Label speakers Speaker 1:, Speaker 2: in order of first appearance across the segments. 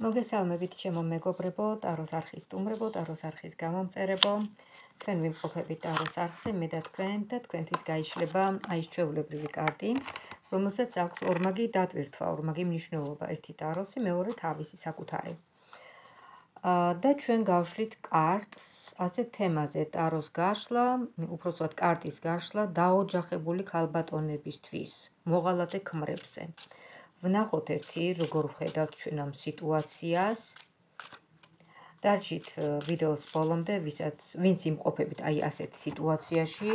Speaker 1: მოგესალმებით ჩემო მეგობრებო, ტაროს არხის სტუმრებო, ტაროს არხის გამომწერებო. თქვენ ვიმყოფებით ტაროს არხზე, მე და თქვენთვის გაიშლება აი ეს ჩვეულებრივი კარტი, რომელსაც აქვს ორმაგი დატვირთვა, ორმაგი მნიშვნელობა, ერთი ტაროსი, მეორე თავისი საკუთარი. და ჩვენ გავშლით კარტს ასეთ თემაზე, ტაროს გაშლა, უпроსოდ კარტის გაშლა დაოჯახებული ქალბატონებისთვის, მოღალატე ქმრებზე. ვნახოთ ერთი, როგორ ვხედავთ ჩვენ ამ სიტუაციას. დარჩით ვიდეოს ბოლომდე, ვინც იმყოფებით აი ასეთ სიტუაციაში.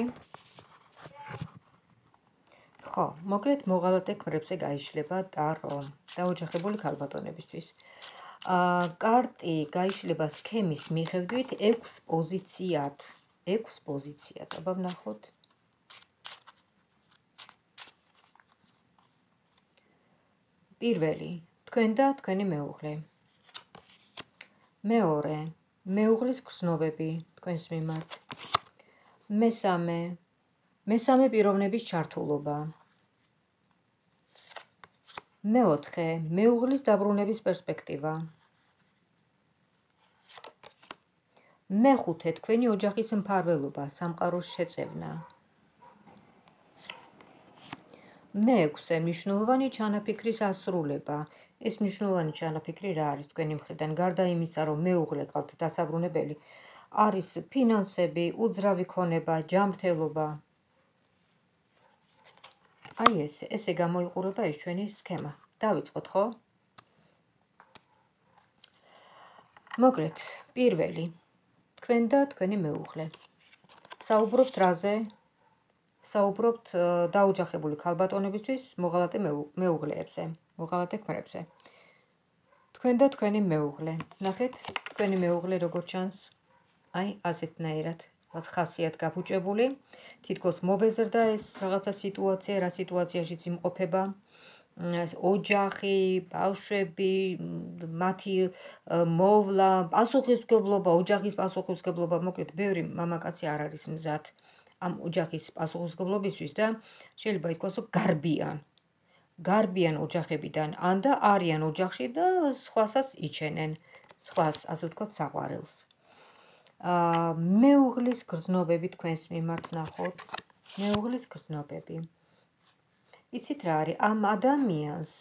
Speaker 1: ხო, მოკლედ მოღალატე ქმრებზე გაიშლება ტარო დაოჯახებული ქალბატონებისთვის. კარტი გაიშლება სქემის მიხედვით 6 პოზიციად. 6 პოზიციად, აბა ვნახოთ. პირველი, თქვენ და თქვენი მეუღლე. მეორე, მეუღლის გრძნობები თქვენს მიმართ. მესამე პიროვნების ჩართულობა. მეოთხე, მეუღლის დაბრუნების პერსპექტივა. მეხუთე, თქვენი ოჯახის მფარველობა, სამყაროს შეწევნა. მეექვსე, მნიშვნელოვანი ჩანაფიქრის ასრულება. ეს მნიშვნელოვანი ჩანაფიქრი რა არის თქვენი მხრიდან? გარდა იმისა, რომ მეუღლე ყავთ დასაბრუნებელი, არის ფინანსები, უძრავი ქონება, ჯანმრთელობა. აი ესე გამოიყურება ეს ჩვენი სქემა. დავიწყოთ, ხო? მოკლედ, პირველი, თქვენ და თქვენი მეუღლე. საუბრობთ რაზე? საუბრობთ დაოჯახებული ქალბატონებისთვის მოღალატე მეუღლეებზე, მოღალატე ქმრებზე. თქვენ და თქვენი მეუღლე. ნახეთ, თქვენი მეუღლე როგორ ჩანს? აი, ასეთნაირად, ხასიათ გაფუჭებული. თითქოს მობეზრდა ეს რაღაცა სიტუაცია, რა სიტუაციაშიც იმყოფება. ოჯახი, ბავშვები, მათი მოვლა, პასუხისმგებლობა, ოჯახის პასუხისმგებლობა, მოკლედ, ბევრი მამაკაცი არ არის მზად ამ ოჯახის პასუხისმგებლობისთვის და შეიძლება ითქვას, რომ გარბიან ოჯახებიდან, ან და არიან ოჯახში და სხვასაც იჩენენ, სხვას, ასე ვთქვათ, საყვარელს. მეუღლის გრძნობები თქვენს მიმართ ვნახოთ. მეუღლის გრძნობები. იცით რა არის? ამ ადამიანს,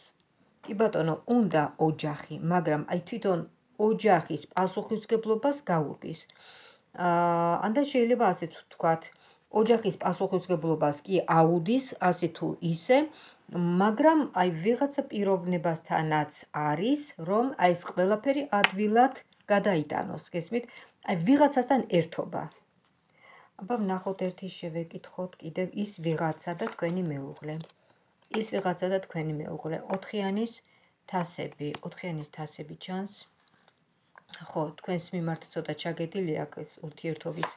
Speaker 1: კი ბატონო, უნდა ოჯახი, მაგრამ აი თვითონ ოჯახის პასუხისმგებლობას გაუდის. ან და შეიძლება ასეც ვთქვათ, ოჯახის პასუხისმგებლობას კი აუდის, ასე თუ ისე, მაგრამ აი ვიღაცა პიროვნებასთანაც არის, რომ აი ეს ყველაფერი ადვილად გადაიტანოს, გესმით? აი ვიღაცასთან ერთობა. აბა ვნახოთ ერთი შევეკითხოთ კიდევ ის ვიღაცა და თქვენი მეუღლე. ის ვიღაცა და თქვენი მეუღლე. 4-იანის თასები ჩანს. ხო, თქვენს მიმართ ცოტა ჩაგედილი აქვს ეს ურთიერთობის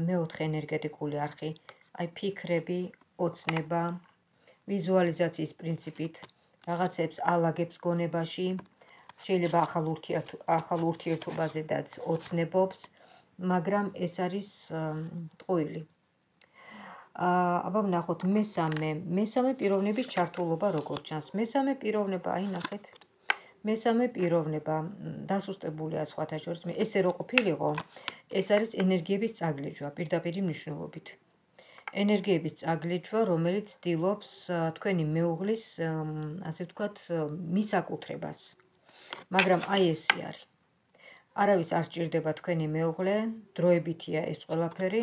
Speaker 1: მეოთხე ენერგეტიკული არხი. აი ფიქრები, ოცნება, ვიზუალიზაციის პრინციპით რაღაცებს ალაგებს გონებაში. შეიძლება ახალ ურთიერთობაზედაც ოცნებობს, მაგრამ ეს არის ტყუილი. აბა ვნახოთ მესამე პიროვნების ჩართულობა როგორ ჩანს. მესამე პიროვნება, აი ნახეთ. მესამე პიროვნება დასუსტებულია სხვათა შორის. ესე რო ყოფილიყო, ეს არის ენერგიების წაგლეჯვა პირდაპირი მნიშვნელობით. ენერგიების წაგლეჯვა, რომელიც ცდილობს თქვენი მეუღლის, ასე ვთქვათ, მისაკუთრებას. მაგრამ აი ესე არის. არავის არ ჭირდება თქვენი მეუღლე, დროებითია ეს ყველაფერი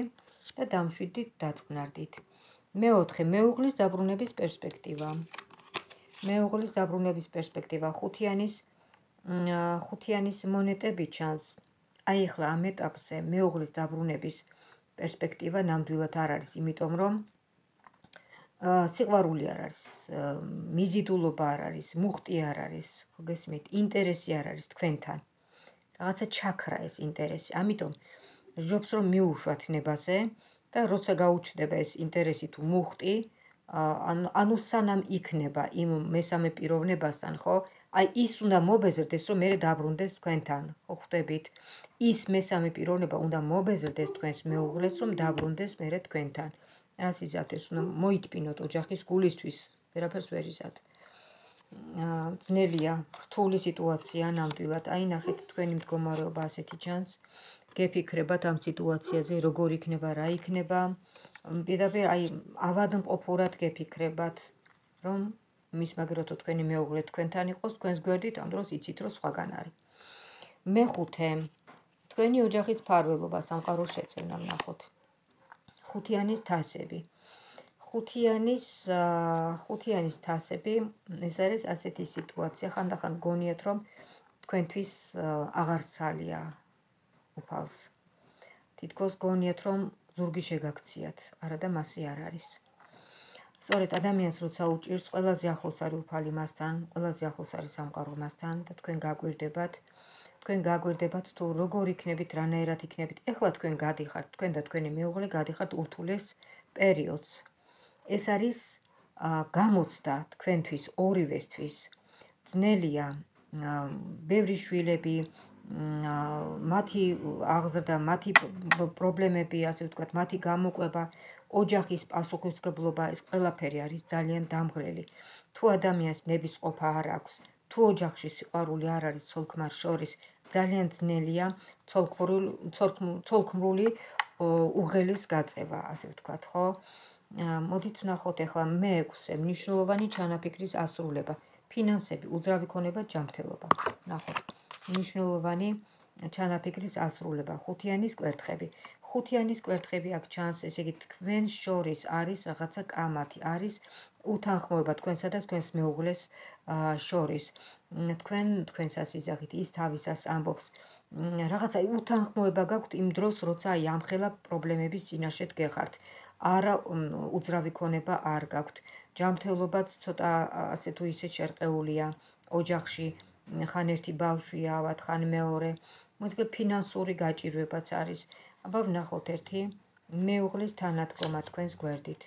Speaker 1: და დამშვიდით, დაწყნარდით. მეოთხე, მეუღლის დაბრუნების პერსპექტივა. მეუღლის დაბრუნების პერსპექტივა. ხუთიანის მონეტები ჩანს. აი ახლა ამ ეტაპზე მეუღლის დაბრუნების პერსპექტივა ნამდვილად არ არის, იმიტომ რომ სიყვარული არ არის, მიზიდულობა არ არის, მუხტი არ არის, ხო გესმით, ინტერესი არ არის თქვენთან. რაღაცა ჩაქრა ეს ინტერესი. ამიტომ ჯობს რომ მიუშვათ ნებაზე და როცა გაუჩნდება ეს ინტერესი თუ მუხტი, ანუ სანამ იქნება იმ მესამე პიროვნებასთან, ხო? აი ის უნდა მობეზრდეს, რომ მე დაბრუნდეს თქვენთან, ხო ხვდებით? ის მესამე პიროვნება უნდა მობეზრდეს თქვენს მეუღლეს, რომ დაბრუნდეს მე თქვენთან. რას იზათ ეს უნდა მოიტპინოთ ოჯახის გულისთვის, ვერაფერს ვერ იზათ. ძნელია, რთული სიტუაცია ნამდვილად. აი ნახეთ თქვენი მდგომარეობა ასეთი ჩანს. გეფიქრებათ ამ სიტუაციაზე, როგორ იქნება, რა იქნება. პირდაპირ აი ავადმყოფურად გეფიქრებათ, რომ მის მაგერად თუ თქვენი მეუღლე თქვენთან იყოს, თქვენს გვერდით, ამ დროს იცით, რომ სხვაგან არის. მეხუთე, თქვენი ოჯახის მფარველობა, სამყაროს შეწევნა ვნახოთ. ხუთიანის თასები. ხუთიანის თასები, ეს არის ასეთი სიტუაცია, ხანდახან გონიათ, რომ თქვენთვის აღარ სცალია უფალს. თითქოს გონიათ, რომ ზურგი შეგაქციათ, არა და მასე არ არის. სწორედ ადამიანს როცა უჭირს, ყველაზე ახლოს არის უფალი მასთან, ყველაზე ახლოს არის სამყარო მასთან და თქვენ გაგვირდებათ თუ როგორ იქნებით, რანაირად იქნებით. ეხლა თქვენ გადიხართ, თქვენ და თქვენი მეუღლე გადიხართ ურთულეს პერიოდს. ეს არის გამოცდა თქვენთვის, ორივესთვის. ძნელია, ბევრი შვილები, მათი აღზრდა, მათი პრობლემები, ასე ვთქვათ, მათი გამოყვება, ოჯახის პასუხისმგებლობა, ეს ყველაფერი არის ძალიან დამღლელი. თუ ადამიანს ნებისყოფა არ აქვს, თუ ოჯახში სიყვარული არ არის ცოლ-ქმარს შორის, ძალიან ძნელია ცოლ-ქმრული უღელის გაწევა, ასე ვთქვათ, ხო? მოდით ვნახოთ ახლა მე-6-ე, მნიშვნელოვანი ჩანაფიქრის ასრულება, ფინანსები, უძრავი ქონება, ჯანმრთელობა. ვნახოთ, მნიშვნელოვანი ჩანაფიქრის ასრულება, ხუთიანის კვერთხები. ხუთიანის კვერთხები აქ ჩანს, ესე იგი თქვენ შორის არის რაღაცა კამათი, არის უთანხმოება თქვენსა და თქვენს მეუღლეს შორის. თქვენს ასიზახით, ის თავისას ამბობს, რაღაცა უთანხმოება გაქვთ იმ დროს, როცა აი ამხელა პრობლემების წინაშე დგეხართ. არა უძრავი ქონება არ გაქვთ. ჯანმრთელობაც ცოტა ასე თუ ისე შერყეულია ოჯახში, ხან ერთი ბავშვია ავად, ხან მეორე. მოიდგეთ ფინანსური გაჭირვებაც არის. აბა ვნახოთ ერთი მეუღლის თანადგომა თქვენს გვერდით.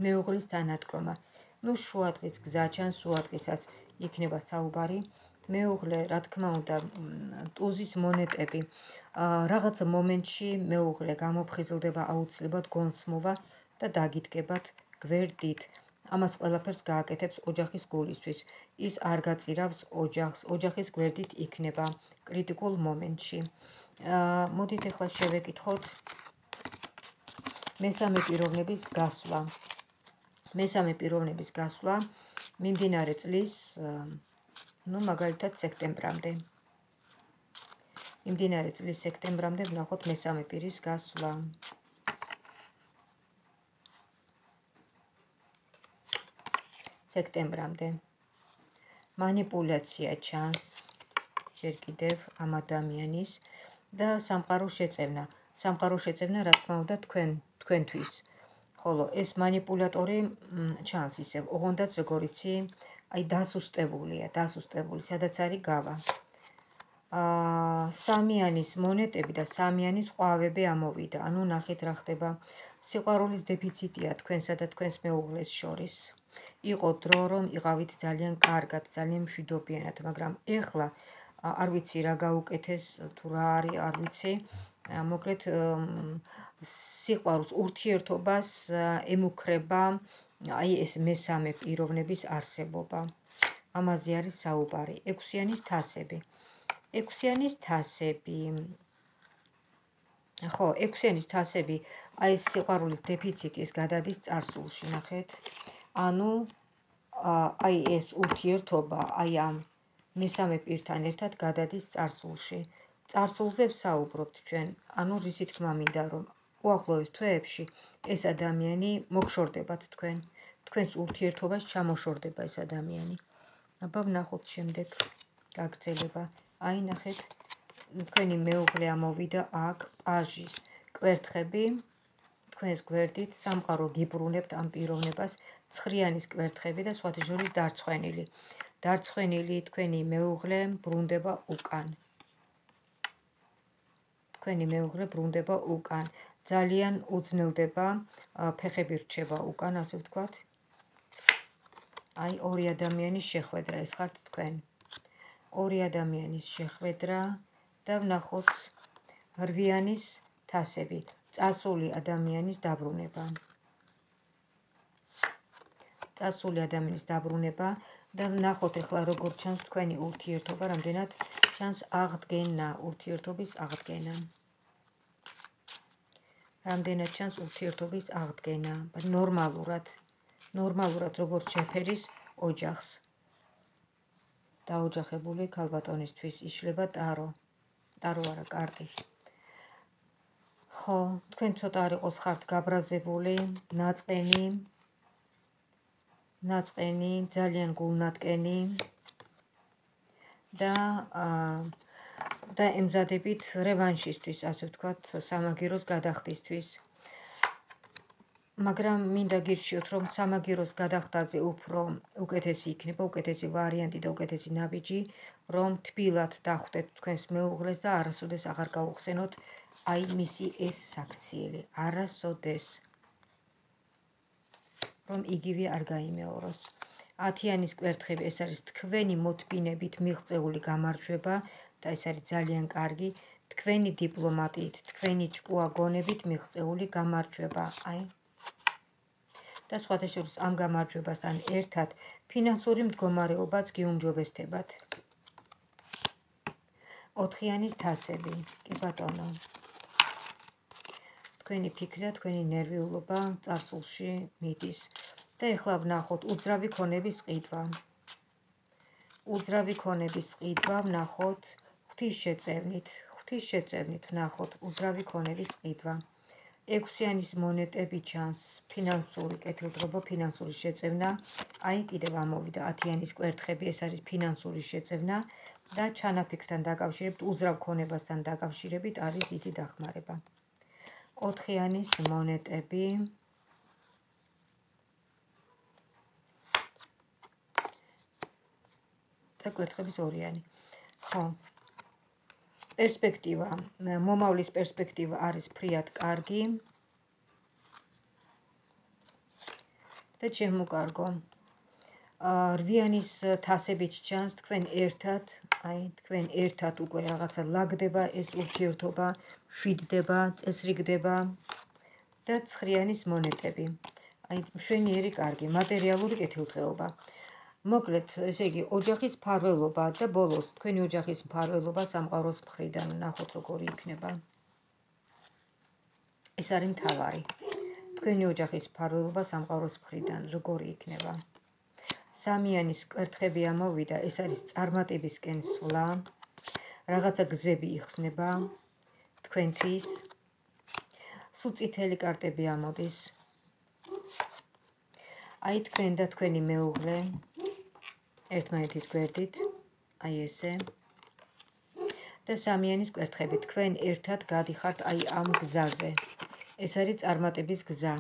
Speaker 1: მეუღლის თანადგომა. ნუ შუადღის გზა ჩანს, შუადღისას იქნება საუბარი. მეუღლე, რა თქმა უნდა, ტუზის მონეტები. რაღაც მომენტში მეუღლე გამოფხიზლდება აუცილებლად გონსმოვა და დაგიდგებათ გვერდით. ამას ყველაფერს გააკეთებს ოჯახის გულისთვის. ის არ გაწირავს ოჯახს, ოჯახის გვერდით იქნება კრიტიკულ მომენტში. მოდით ახლა შევეკითხოთ მესამე პიროვნების გასვლა. მესამე პიროვნების გასვლა მიმდინარე წლის, ну, მაგალითად სექტემბრამდე. მიმდინარე წლის სექტემბრამდე ვნახოთ მესამე პირის გასვლა. სექტემბრამდე. манипуляция ჩანს ჯერ კიდევ ამ ადამიანის და სამყაროს შეწევნა. სამყაროს შეწევნა, რა თქმა უნდა, თქვენთვის. ხოლო ეს манипуляტორი ჩანს ისევ, ოღონდაც როგორიცი, აი დასუსტებული, სადაც არის გავა. სამიანის მონეტები და სამიანის ყვავები ამოვიდა. ანუ ნახეთ რა ხდება. სიყვარულის დეფიციტია თქვენსა და თქვენს მეუღლეს შორის. იყო დრო, რომ იყავით ძალიან კარგად, ძალიან მშვიდობიანად, მაგრამ ეხლა არ ვიცი რა გაუკეთეს, თუ რა არის, არ ვიცი. მოკლედ სიყვარულს, ურთიერთობას ემუქრება აი ეს მესამე პიროვნების არსებობა. ამაზე არის საუბარი. ექვსიანის თასები. ექვსიანის თასები. ხო, ექვსიანის თასები, აი ეს სიყვარულის დეფიციტი ეს გადადის წარსულში, ნახეთ. ანუ აი ეს ურთიერთობა, აი ამ მესამე პირთან ერთად გადადის წარსულში. წარსულზე ვსაუბრობთ ჩვენ, ანუ რისი თქმა მინდა, რომ უახლოეს თვეებში ეს ადამიანი მოგშორდებათ თქვენ. თქვენს ურთიერთობას ჩამოშორდება ეს ადამიანი. აბა ვნახოთ შემდეგ გაგრძელება. აი ნახეთ, თქვენი მეუღლე ამოვიდა აქ პაჟის კვერთხები. თქვენს გვერდით სამყარო გიბრუნებთ ამ პიროვნებას, ცხრიანის კვერთხები და სხვათა შორის დარცხვენილი. დარცხვენილი თქვენი მეუღლე ბრუნდება უკან. თქვენი მეუღლე ბრუნდება უკან. ძალიან უძნელდება, ფეხები რჩება უკან, ასე ვთქვათ. აი ორი ადამიანის შეხვედრა, ეს ხართ თქვენ. ორი ადამიანის შეხვედრა და ვნახოთ რვიანის თასები. წასული ადამიანის დაბრუნება. წასული ადამიანის დაბრუნება, და ნახოთ ახლა როგორ ჩანს თქვენი ურთიერთობა, რამდენად ჩანს აღდგენა, ურთიერთობის აღდგენა. რამდენად ჩანს ურთიერთობის აღდგენა, ნორმალურად როგორც შეფერის ოჯახს. დაოჯახებული ქალბატონისთვის იშლება ტარო არა კარტი. ხო, თქვენ ცოტა არ იყოს ხართ გაბრაზებული, ნაწყენი, ძალიან გულნატკენი და ემზადებით რევანშისთვის, ასე ვთქვათ, სამაგიროს გადახდისთვის. მაგრამ მინდა გირჩიოთ, რომ სამაგიროს გადახდაზე უფრო უკეთესი იქნება, უკეთესი ვარიანტი და უკეთესი ნაბიჯი, რომ თბილად დახვდეთ თქვენს მეუღლეს და არასოდეს აღარ გაუხსენოთ აი მისი ეს საქციელი, არასოდეს, რომ იგივე არ გაიმეოროს. 10-იანის კვერთხები, ეს არის თქვენი მოთბინებით მიღწეული გამარჯვება და ეს არის ძალიან კარგი, თქვენი დიპლომატიით, თქვენი ჭკუაგონებით მიღწეული გამარჯვება. და სხვათა შორის ამ გამარჯვებასთან ერთად ფინანსური მდგომარეობაც გიუმჯობესდებათ. 4-იანის თასები, კი ბატონო. თქვენი ფიქრი და თქვენი ნერვიულობა წარსულში მიდის. და ეხლა ვნახოთ უძრავი ქონების ყიდვა. უძრავი ქონების ყიდვა ვნახოთ ღვთისშეწევნით ვნახოთ უძრავი ქონების ყიდვა. 6-იანის მონეტები ჩანს, ფინანსური კეთილდღეობა, ფინანსური შეწევნა. აი კიდევ ამოვიდა 10-იანის კვერთხები, ეს არის ფინანსური შეწევნა და ჩანაფიქრთან დაკავშირებით, უძრავ ქონებასთან დაკავშირებით არის დიდი დახმარება. 4-იანის მონეტები. და კვერთხების 2-იანი. ხო. პერსპექტივა, მომავლის პერსპექტივა არის ფრიად კარგი. და ჩემო-კარგო. 8-იანის თასებით ჩანს თქვენ ერთად უკვე რაღაცა ლაგდება ეს ურთიერთობა, შვიდდება, წესრიგდება და 9-იანის მონეტები. აი მშვენიერი კარგი, მატერიალური კეთილდღეობა. მოკლედ, ესე იგი, ოჯახის მფარველობა და ბოლოს თქვენი ოჯახის მფარველობა სამყაროს მხრიდან ნახოთ როგორი იქნება. ეს არის მთავარი. თქვენი ოჯახის მფარველობა სამყაროს მხრიდან როგორი იქნება. 3-იანის კვერთხები ამოვიდა, ეს არის წარმატებისკენ სვლა, რაღაცა გზები იხსნება თქვენთვის. სულ წითელი კარტები ამოდის. აი თქვენ და თქვენი მეუღლე ერთმანეთის გვერდით, აი ესე. და 3-იანის კვერთხები, თქვენ ერთად გადიხართ აი ამ გზაზე. ეს არის წარმატების გზა.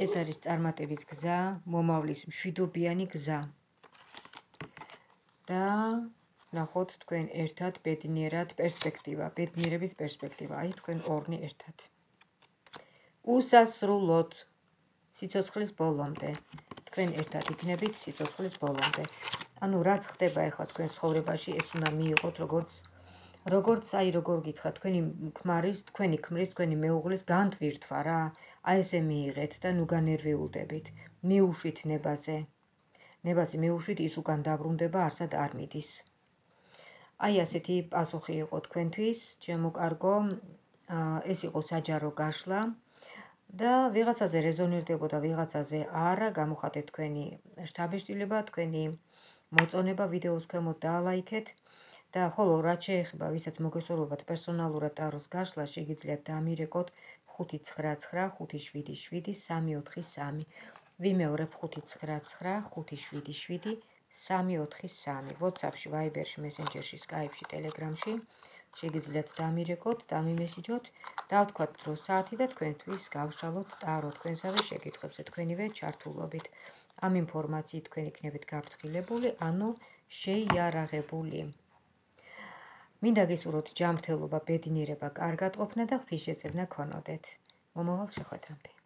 Speaker 1: ეს არის წარმატების გზა, მომავლის მშვიდობიანი გზა. და ნახოთ თქვენ ერთად ბედნიერად პერსპექტივა, ბედნიერების პერსპექტივა, აი თქვენ ორნი ერთად. უსასრულოდ სიცოცხლის ბოლომდე. თქვენ ერთად იქნებით სიცოცხლის ბოლომდე. ანუ რაც ხდება ახლა თქვენ ცხოვრებაში, ეს უნდა მიიღოთ როგორც როგორ გითხრათ, თქვენი ქმრის, თქვენი მეუღლის განტვირთვა რა. აი ესე მიიღეთ და ნუ განერვიულდებით. მიუშვით ნებაზე. ნებაზე მიუშვით, ის უკან დაბრუნდება, არსად არ მიდის. აი ასეთი პასუხი იყო თქვენთვის, ჩემო კარგო, ეს იყო საჯარო გაშლა. და ვიღაცაზე რეზონირდებოდა, ვიღაცაზე არა, გამოხატეთ თქვენი შთაბეჭდილება, თქვენი მოწონება ვიდეოს ქვემოთ დაალაიქეთ და ხოლო რაც შეეხება, ვისაც მოგესურვებათ პერსონალურად ტაროს გაშლა, შეგიძლიათ დამირეკოთ 599577343. ვიმეორებ 599577343. WhatsApp-ში, Viber-ში, Messenger-ში, Skype-ში, Telegram-ში შეგიძლიათ დამირეკოთ, დამიმესიჯოთ, დავთქვათ დრო საათი და თქვენთვის გავშალოთ ტარო თქვენსავე შეკითხვებზე თქვენივე ჩართულობით. ამ ინფორმაციით თქვენ იქნებით გაფრთხილებული, ანუ შეიარაღებული. მინდა გისურვოთ ჯანმრთელობა, ბედნიერება, კარგად ყოფნა და ღვთისშეწევნა ქონოდეთ. მომავალ შეხვედრამდე.